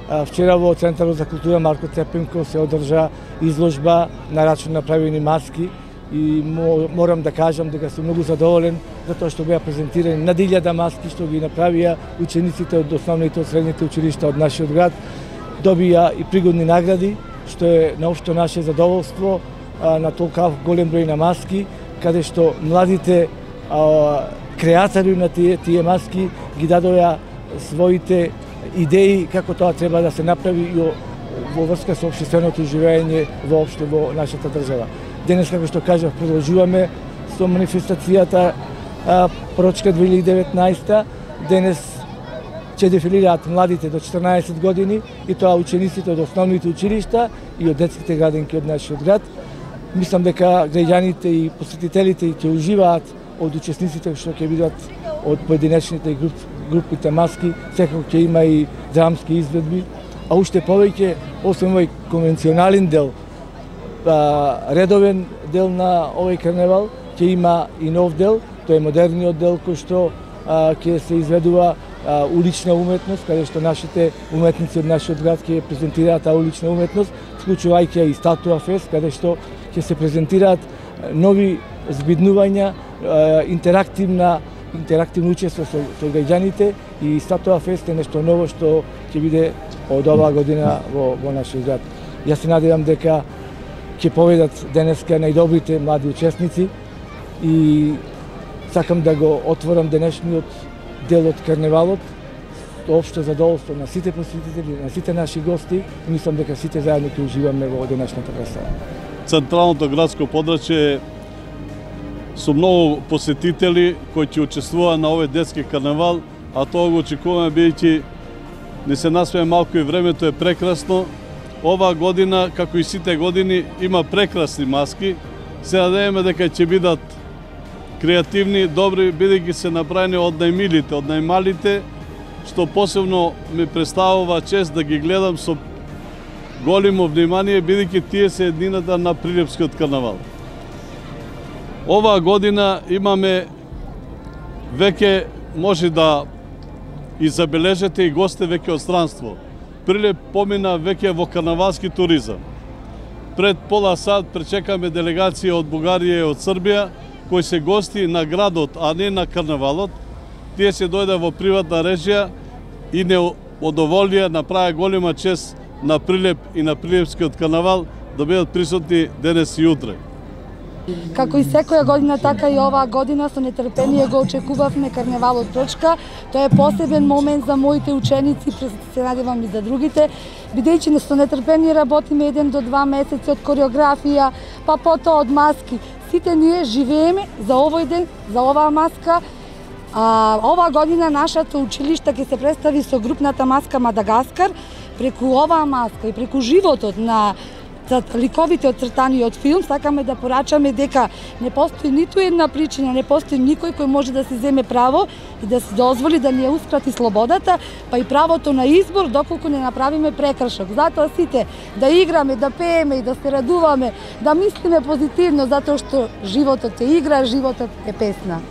Вчера во Центарот за култура Марко Цепенко се одржа изложба на рачун направени маски и морам да кажам дека сум многу задоволен затоа што беа презентирани над 1000 маски што ги направија учениците од основните и средните училишта од нашиот град. Добија и пригодни награди, што е наопшто наше задоволство на толков голем број на маски, каде што младите креатори на тие маски ги дадоа своите идеи како тоа треба да се направи и во врска со општественото живење воопшто во нашата држава. Денес, како што кажав, продолжуваме со манифестацијата Порочка 2019. Денес ќе дефилираат младите до 14 години и тоа учениците од основните училишта и од детските градинки од нашиот град. Мислам дека граѓаните и посетителите ќе уживаат од учесниците што ќе бидат од поединечните групите маски, секако ќе има и драмски изведби, а уште повеќе, освен овој конвенционален дел, редовен дел на овој карневал, ќе има и нов дел, тоа е модерниот дел кој што ќе се изведува улична уметност, каде што нашите уметници од нашиот град ќе презентираат таа улична уметност, вклучувајќи и статуа фест, каде што ќе се презентираат нови збиднувања, интерактивно учество со граѓаните и статуа фест е нешто ново што ќе биде од оваа година во нашиот град. Јас се надевам дека ќе поведат денеска најдобрите млади учесници и сакам да го отворам денешниот дел од карневалот, општо задоволство на сите посетители, на сите наши гости и мислам дека сите заедно ќе уживаме во денешната представа. Централното градско подрачје со многу посетители кои ќе учествуваат на овој детски карневал, а тоа го очекуваме бидејќи не се насмее малку и времето е прекрасно. Оваа година, како и сите години, има прекрасни маски. Се надеваме дека ќе бидат креативни, добри, бидејќи се направени од најмилите, од најмалите, што посебно ми представува чест да ги гледам со големо внимание, бидејќи тие се еднината на Прилепскиот карнавал. Оваа година имаме веќе може да и забележете и гости веќе од странство. Прилеп помина веќе во карнавалски туризам. Пред пола сат пречекаме делегација од Бугарија и од Србија, кои се гости на градот, а не на карнавалот. Тие се дојде во приватна режија и не одоволија, направи голема чест на Прилеп и на Прилепскиот карнавал да бидат присутни денес и утре. Како и секоја година, така и оваа година со нетрпение го очекувавме карневалот Порочка. Тоа е посебен момент за моите ученици, се надевам и за другите, бидејќи со нетрпение работиме 1 до 2 месеци од кореографија, па потоа од маски. Сите ние живееме за овој ден, за оваа маска. Оваа година нашето училиште ќе се представи со групната маска Мадагаскар. Преку оваа маска и преку животот на ликовите одцртани од филм, сакаме да порачаме дека не постои ниту една причина, не постои никој кој може да си земе право и да си дозволи да ни ја ускрати слободата, па и правото на избор доколку не направиме прекршок. Затоа сите да играме, да пееме и да се радуваме, да мислиме позитивно, затоа што животот е игра, животот е песна.